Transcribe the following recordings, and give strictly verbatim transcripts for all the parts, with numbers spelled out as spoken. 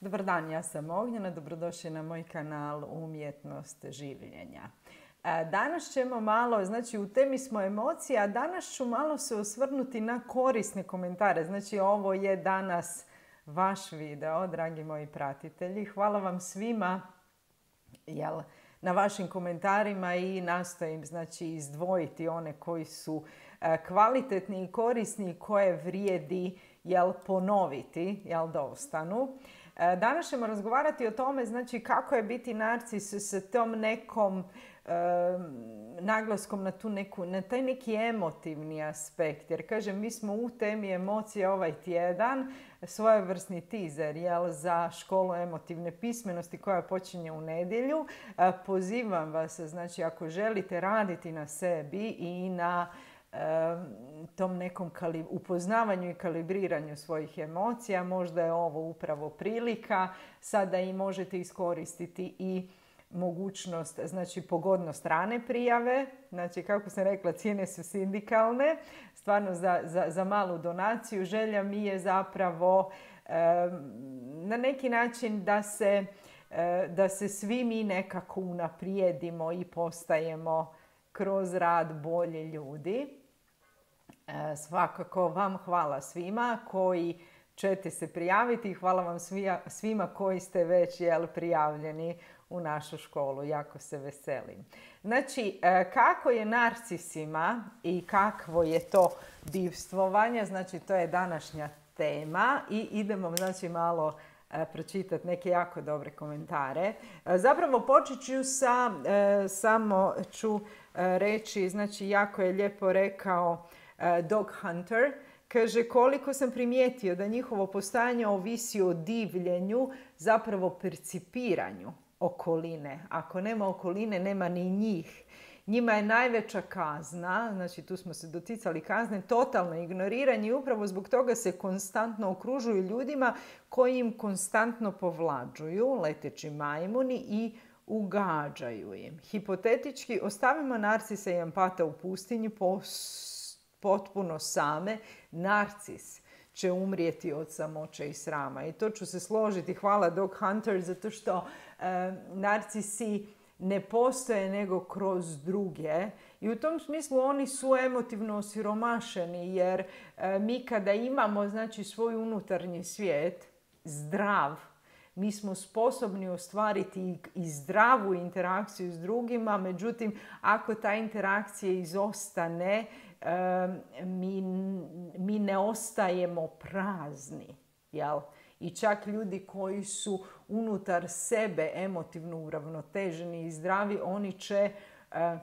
Dobar dan, ja sam Ognjena, dobrodošli na moj kanal Umjetnost življenja. Danas ćemo malo, znači u temi smo emocija, a danas ću malo se osvrnuti na korisne komentare. Znači ovo je danas vaš video, dragi moji pratitelji. Hvala vam svima jel, na vašim komentarima i nastojim znači, izdvojiti one koji su kvalitetni i korisni i koje vrijedi jel, ponoviti jel, da ostanu. Danas ćemo razgovarati o tome znači, kako je biti narcis s tom nekom e, naglaskom na, tu neku, na taj neki emotivni aspekt. Jer kažem, mi smo u temi emocije ovaj tjedan, svojevrsni teaser jel, za školu emotivne pismenosti koja počinje u nedjelju. E, pozivam vas, znači ako želite raditi na sebi i na tom nekom upoznavanju i kalibriranju svojih emocija, možda je ovo upravo prilika. Sada i možete iskoristiti i mogućnost, znači pogodnost rane prijave. Znači, kako sam rekla, cijene su sindikalne. Stvarno za, za, za malu donaciju. Želja mi je zapravo eh, na neki način da se, eh, da se svi mi nekako unaprijedimo i postajemo kroz rad bolje ljudi. E, svakako vam hvala svima koji ćete se prijaviti i hvala vam svija, svima koji ste već jel, prijavljeni u našu školu. Jako se veselim. Znači, e, kako je narcisima i kakvo je to divstvovanje, znači to je današnja tema i idemo znači malo pročitati neke jako dobre komentare. Zapravo počet ću sa, samo ću reći, znači jako je lijepo rekao Dog Hunter, kaže koliko sam primijetio da njihovo postojanje ovisi o divljenju, zapravo percipiranju okoline. Ako nema okoline, nema ni njih. Njima je najveća kazna, znači tu smo se doticali kazne, totalno ignoriranje i upravo zbog toga se konstantno okružuju ljudima koji im konstantno povlađuju, leteći majmuni i ugađaju im. Hipotetički, ostavimo narcisa i empata u pustinji potpuno same. Narcis će umrijeti od samoće i srama. I to ću se složiti. Hvala Dog Hunter, zato što e, narcisi ne postoje nego kroz druge i u tom smislu oni su emotivno osiromašeni jer e, mi kada imamo znači, svoj unutarnji svijet zdrav, mi smo sposobni ostvariti i, i zdravu interakciju s drugima, međutim ako ta interakcija izostane, e, mi, mi ne ostajemo prazni, jel? I čak ljudi koji su unutar sebe emotivno uravnoteženi i zdravi, oni će e,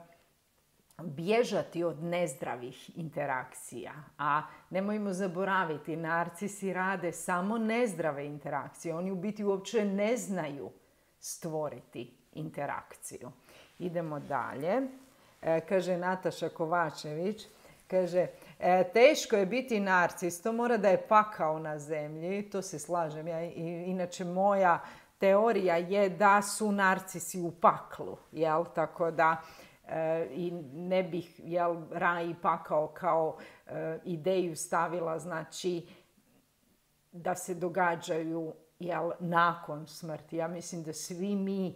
bježati od nezdravih interakcija. A nemojmo zaboraviti, narcisi rade samo nezdrave interakcije. Oni u biti uopće ne znaju stvoriti interakciju. Idemo dalje. E, kaže Nataša Kovačević. Kaže, e, teško je biti narcis, to mora da je pakao na zemlji, to se slažem. Ja, i, inače, moja teorija je da su narcisi u paklu, jel? Tako da e, i ne bih jel, raj i pakao kao e, ideju stavila, znači da se događaju jel, nakon smrti. Ja mislim da svi mi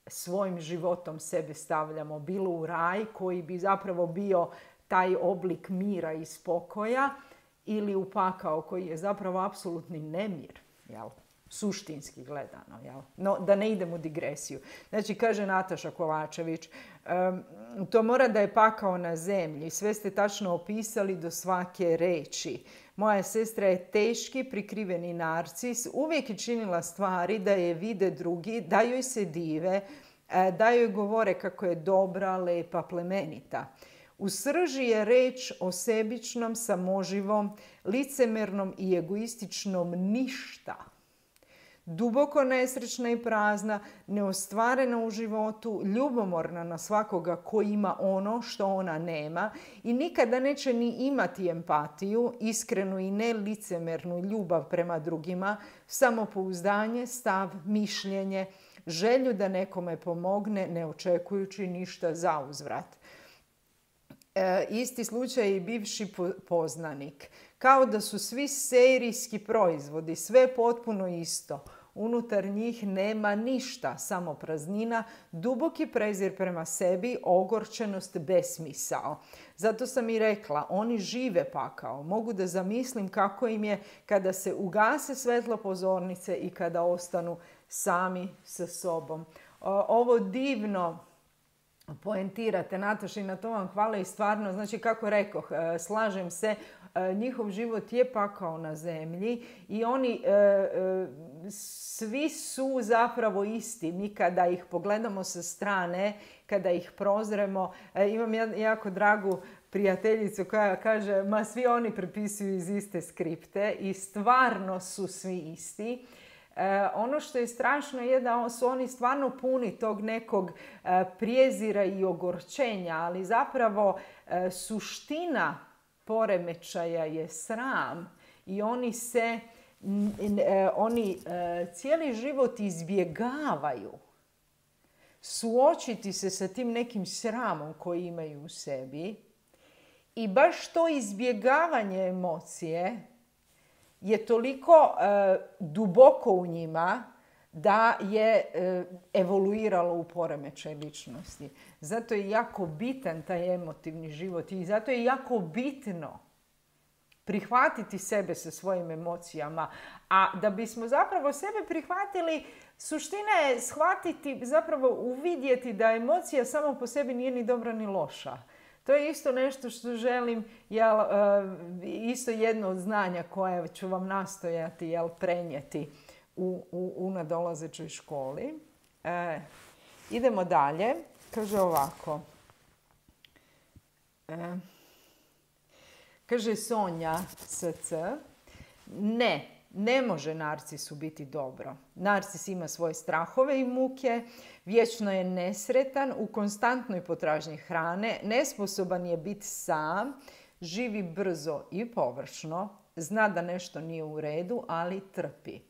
svojim životom sebe stavljamo bilo u raj koji bi zapravo bio taj oblik mira i spokoja ili u pakao koji je zapravo apsolutni nemir, jel? Suštinski gledano. Jel? No, da ne idem u digresiju. Znači, kaže Nataša Kovačević, um, to mora da je pakao na zemlji. Sve ste tačno opisali do svake reči. Moja sestra je teški, prikriveni narcis. Uvijek je činila stvari da je vide drugi, da joj se dive, da joj govore kako je dobra, lepa, plemenita. U srži je reč o sebičnom, samoživom, licemernom i egoističnom ništa. Duboko nesrećna i prazna, neostvarena u životu, ljubomorna na svakoga ko ima ono što ona nema i nikada neće ni imati empatiju, iskrenu i nelicemernu ljubav prema drugima, samopouzdanje, stav, mišljenje, želju da nekome pomogne, ne očekujući ništa zauzvrat. E, isti slučaj i bivši poznanik. Kao da su svi serijski proizvodi, sve potpuno isto. Unutar njih nema ništa, samo praznina, duboki prezir prema sebi, ogorčenost, besmisao. Zato sam i rekla, oni žive pakao. Mogu da zamislim kako im je kada se ugase svetlo pozornice i kada ostanu sami sa sobom. Ovo divno poentirate, Nataša, i na to vam hvala. I stvarno, znači kako rekoh, slažem se, njihov život je pakao na zemlji i oni e, e, svi su zapravo isti. Mi kada ih pogledamo sa strane, kada ih prozremo, e, imam jako dragu prijateljicu koja kaže, ma svi oni prepisuju iz iste skripte i stvarno su svi isti. E, ono što je strašno je da su oni stvarno puni tog nekog e, prijezira i ogorčenja, ali zapravo e, suština poremećaja je sram i oni se, e, oni e, cijeli život izbjegavaju suočiti se sa tim nekim sramom koji imaju u sebi i baš to izbjegavanje emocije je toliko e, duboko u njima da je e, evoluiralo u poremećaj ličnosti. Zato je jako bitan taj emotivni život i zato je jako bitno prihvatiti sebe sa svojim emocijama. A da bismo zapravo sebe prihvatili, suština je shvatiti, zapravo uvidjeti da emocija samo po sebi nije ni dobra ni loša. To je isto nešto što želim, jel, isto jedno od znanja koje ću vam nastojati, jel, prenijeti u, u, u nadolazećoj školi. E, idemo dalje. Kaže ovako. E, kaže Sonja S C. Ne, ne može narcisu biti dobro. Narcis ima svoje strahove i muke, vječno je nesretan, u konstantnoj potražnji hrane, nesposoban je biti sam, živi brzo i površno, zna da nešto nije u redu, ali trpi.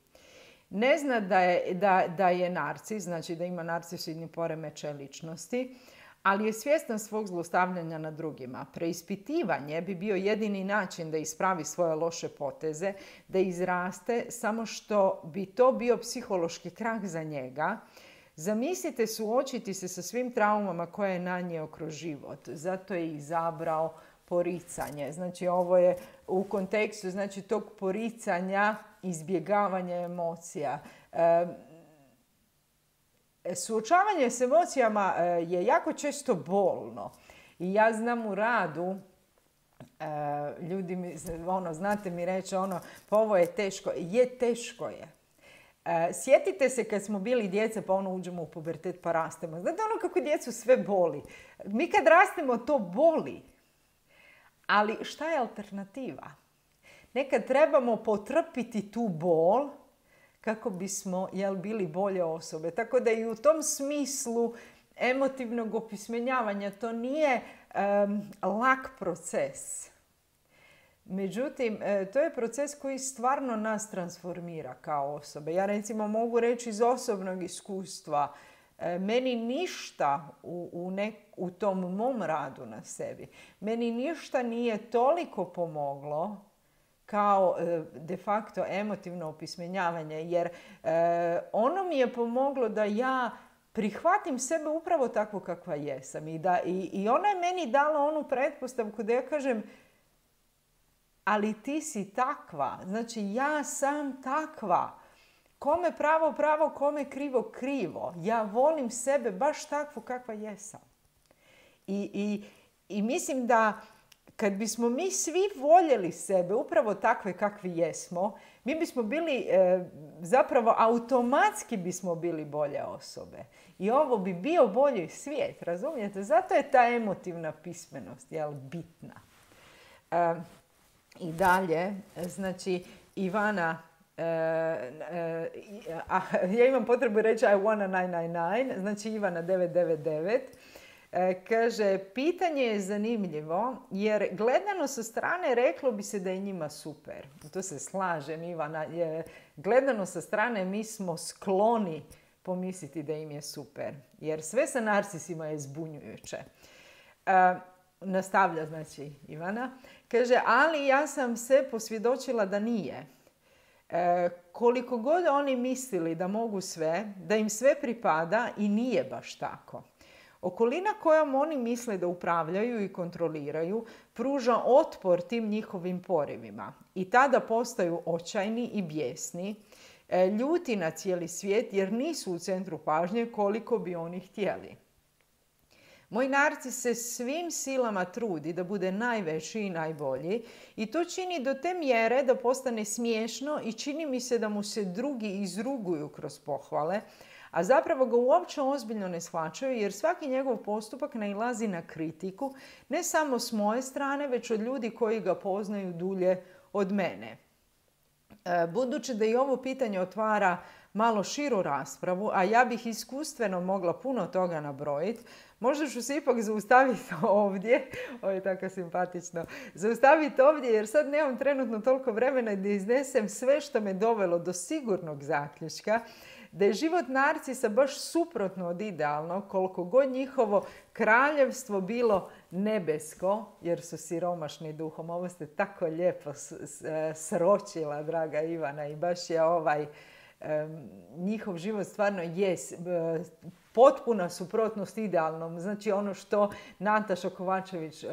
Ne zna da je, da, da je narcis, znači da ima narcisoidni poremećaj ličnosti, ali je svjestan svog zlostavljanja na drugima. Preispitivanje bi bio jedini način da ispravi svoje loše poteze, da izraste, samo što bi to bio psihološki krah za njega. Zamislite suočiti se sa svim traumama koje je nanijeo kroz život. Zato je izabrao poricanje. Znači ovo je u kontekstu, znači, tog poricanja, izbjegavanja emocija. E, Suočavanje s emocijama je jako često bolno. I ja znam u radu, ljudi mi, ono, znate mi reći, ono, pa ovo je teško. Je, teško je. Sjetite se kad smo bili djeca, pa ono uđemo u pubertet pa rastemo. Znate ono kako djecu sve boli. Mi kad rastemo to boli. Ali šta je alternativa? Nekad trebamo potrpiti tu bol kako bismo, jel, bili bolje osobe. Tako da i u tom smislu emotivnog opismenjavanja to nije um, lak proces. Međutim, to je proces koji stvarno nas transformira kao osobe. Ja recimo mogu reći iz osobnog iskustva, meni ništa u, u, nek, u tom mom radu na sebi, meni ništa nije toliko pomoglo kao de facto emotivno opismenjavanje, jer e, ono mi je pomoglo da ja prihvatim sebe upravo takvo kakva jesam. I, da, i, i ona je meni dala onu pretpostavku da ja kažem, ali ti si takva, znači ja sam takva. Kome pravo, pravo, kome krivo, krivo. Ja volim sebe baš takvu kakva jesam. I, i, i mislim da kad bismo mi svi voljeli sebe upravo takve kakvi jesmo, mi bismo bili, e, zapravo automatski bismo bili bolje osobe. I ovo bi bio bolji svijet, razumijete? Zato je ta emotivna pismenost, jel, bitna. E, I dalje, znači, Ivana, e, e, a, ja imam potrebu reći I wanna devet devet devet, znači Ivana devet devet devet, kaže, pitanje je zanimljivo jer gledano sa strane reklo bi se da je njima super. To se slažem, Ivana. Gledano sa strane mi smo skloni pomisliti da im je super. Jer sve sa narcisima je zbunjujuće. E, nastavlja, znači, Ivana. Kaže, ali ja sam se posvjedočila da nije. E, koliko god oni mislili da mogu sve, da im sve pripada i nije baš tako. Okolina kojom oni misle da upravljaju i kontroliraju pruža otpor tim njihovim porivima i tada postaju očajni i bijesni, e, ljuti na cijeli svijet jer nisu u centru pažnje koliko bi oni htjeli. Moj narcis se svim silama trudi da bude najveći i najbolji i to čini do te mjere da postane smiješno i čini mi se da mu se drugi izruguju kroz pohvale, a zapravo ga uopće ozbiljno ne shvaćaju jer svaki njegov postupak nailazi na kritiku ne samo s moje strane, već od ljudi koji ga poznaju dulje od mene. Budući da i ovo pitanje otvara malo širu raspravu, a ja bih iskustveno mogla puno toga nabrojiti, možda ću se ipak zaustaviti ovdje, ovo je tako simpatično, zaustaviti ovdje jer sad nemam trenutno toliko vremena da iznesem sve što me dovelo do sigurnog zaključka da je život narcisa baš suprotno od idealnog, koliko god njihovo kraljevstvo bilo nebesko, jer su siromašni duhom. Ovo ste tako lijepo sročila, draga Ivana, i baš je ovaj um, njihov život stvarno je uh, potpuna suprotnost idealnom. Znači ono što Nataša Kovačević uh,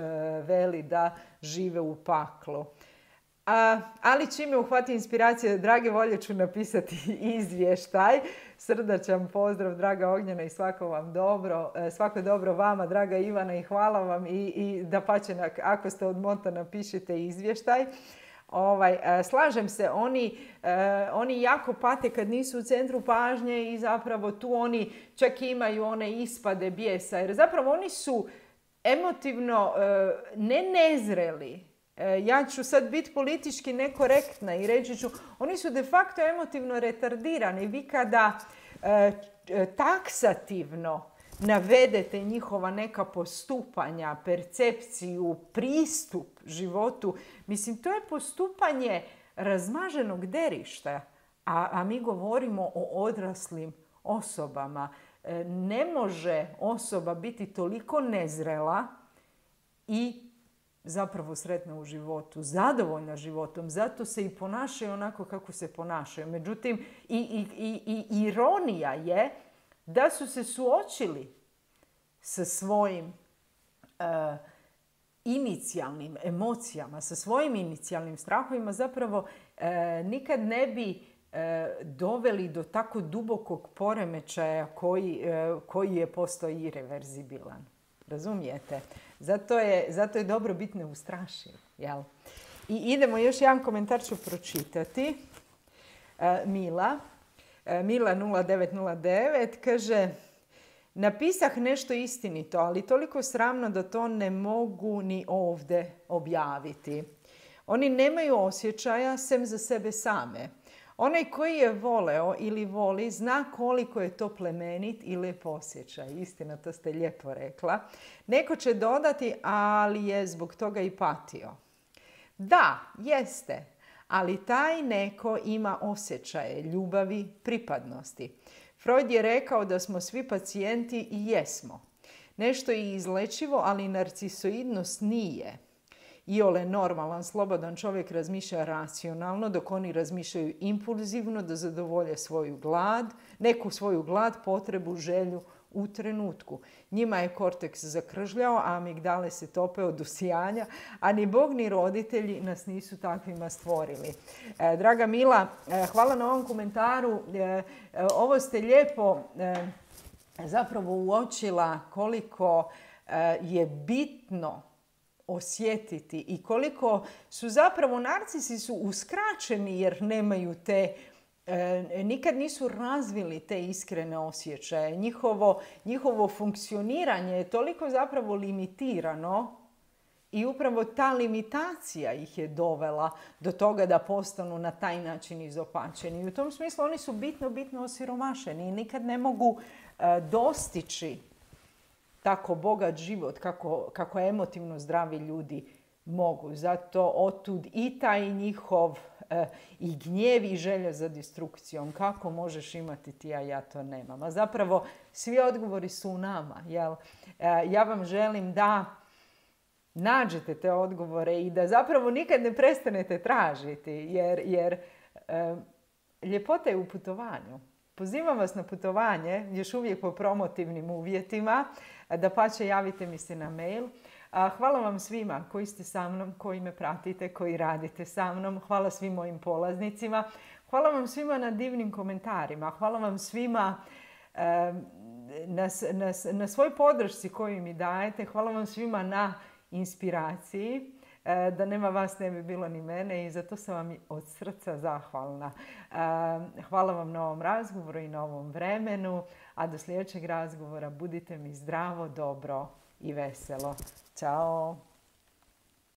veli da žive u paklu. A, ali čime uhvati inspiracija, drage volje ću napisati izvještaj. Srdačan pozdrav, draga Ognjena, i svako vam dobro, svako dobro vama, draga Ivana, i hvala vam i, i da pače, ako ste od Monta, napišite izvještaj. Ovaj, slažem se, oni, oni jako pate kad nisu u centru pažnje i zapravo tu oni čak imaju one ispade bijesa, jer zapravo oni su emotivno ne nezreli. Ja ću sad biti politički nekorektna i reći ću, oni su de facto emotivno retardirani. Vi kada e, taksativno navedete njihova neka postupanja, percepciju, pristup životu, mislim, to je postupanje razmaženog derišta, a, a mi govorimo o odraslim osobama. E, ne može osoba biti toliko nezrela i zapravo sretna u životu, zadovoljna životom, zato se i ponašaju onako kako se ponašaju. Međutim, i, i, i, i ironija je da su se suočili sa svojim uh, inicijalnim emocijama, sa svojim inicijalnim strahovima, zapravo uh, nikad ne bi uh, doveli do tako dubokog poremećaja koji, uh, koji je postao irreverzibilan. Razumijete? Zato je, zato je dobro biti neustrašiv. Jel? I idemo, još jedan komentar ću pročitati. E, Mila, e, Mila nula devet nula devet kaže: napisah nešto istinito, ali toliko sramno da to ne mogu ni ovdje objaviti. Oni nemaju osjećaja sem za sebe same. Onaj koji je voleo ili voli zna koliko je to plemenit i lijep osjećaj. Istina, to ste lijepo rekla. Neko će dodati, ali je zbog toga i patio. Da, jeste, ali taj neko ima osjećaje ljubavi, pripadnosti. Freud je rekao da smo svi pacijenti i jesmo. Nešto je izlečivo, ali narcisoidnost nije. Iole normalan, slobodan čovjek razmišlja racionalno, dok oni razmišljaju impulzivno da zadovolje svoju glad, neku svoju glad, potrebu, želju u trenutku. Njima je korteks zakržljao, a amigdale se tope od usijanja, a ni Bog ni roditelji nas nisu takvima stvorili. E, draga Mila, e, hvala na ovom komentaru. E, e, ovo ste lijepo e, zapravo uočila koliko e, je bitno osjetiti i koliko su zapravo narcisi su uskraćeni jer nemaju te, e, nikad nisu razvili te iskrene osjećaje. Njihovo, njihovo funkcioniranje je toliko zapravo limitirano i upravo ta limitacija ih je dovela do toga da postanu na taj način izopačeni. I u tom smislu oni su bitno, bitno osiromašeni i nikad ne mogu e, dostići tako bogat život kako, kako emotivno zdravi ljudi mogu. Zato otud i taj njihov e, i gnjev i želja za destrukcijom. Kako možeš imati ti, a ja to nemam. A zapravo svi odgovori su u nama. Jel? E, ja vam želim da nađete te odgovore i da zapravo nikad ne prestanete tražiti. Jer, jer Ljepota je u putovanju. Pozivam vas na putovanje, još uvijek po promotivnim uvjetima. Dapače, javite mi se na mail. Hvala vam svima koji ste sa mnom, koji me pratite, koji radite sa mnom. Hvala svim mojim polaznicima. Hvala vam svima na divnim komentarima. Hvala vam svima na, na, na svoj podršci koju mi dajete. Hvala vam svima na inspiraciji. Da nema vas ne bi bilo ni mene i zato sam vam od srca zahvalna. Hvala vam na ovom razgovoru i na ovom vremenu, a do sljedećeg razgovora budite mi zdravo, dobro i veselo. Ćao!